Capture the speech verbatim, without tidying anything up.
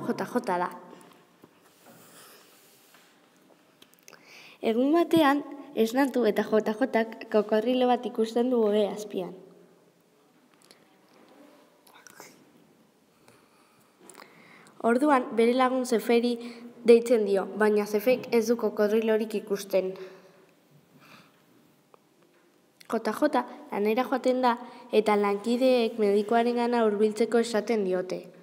J J da. Egun batean, esnatu eta J Jk kokodrilo bat ikusten du ohe azpian. Orduan, bere lagun Zeferi deitzen dio, baina Zefek ez du kokodrilorik ikusten. J J lanera joaten da eta lankideek medikuarengana hurbiltzeko esaten diote.